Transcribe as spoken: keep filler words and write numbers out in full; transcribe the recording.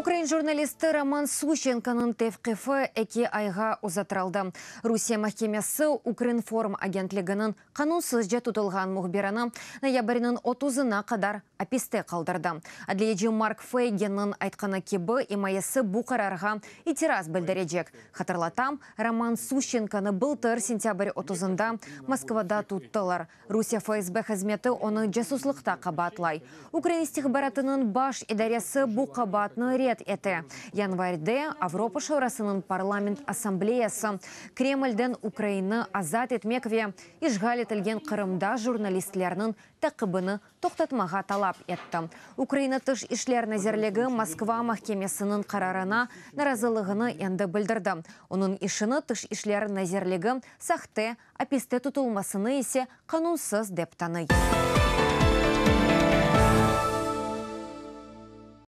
Ukrain jurnalisti Roman Suşçenkonıñ tevqifi eki ayğa uzattırıldı. Rusiye mahkemesi Ukrinform agentliginiñ qanunsızca tutulğan mühbirini noyabrniñ otuzına qadar apiste qaldırdı. Adliyeci Mark Feyginniñ aytqanı kibi, imayesi bu qararğa itiraz bildirecek. Hatırlatam, Roman Suşçenkonı bıltır sentâbr otuzında Moskvada tuttılar. Rusiye F S B hızmeti onı casuslıqta qabaatlay. Ukrain istihbaratınıñ baş idaresi bu qabaatnı red ete. Yanvarde Avropa Şurasınıñ parlament assambleyası Kremlden Ukrainni azat etmek ve işğal etilgen Qırımda jurnalistlerniñ taqibini toqtatmağa talap etti. Ukraina Tış işler nazirligi Moskva mahkemesiniñ qararına narazılığını endi bildirdi. Onıñ işini Tış işler nazirligi sahte, apiste tutulmasını ise qanunsız dep tanıy.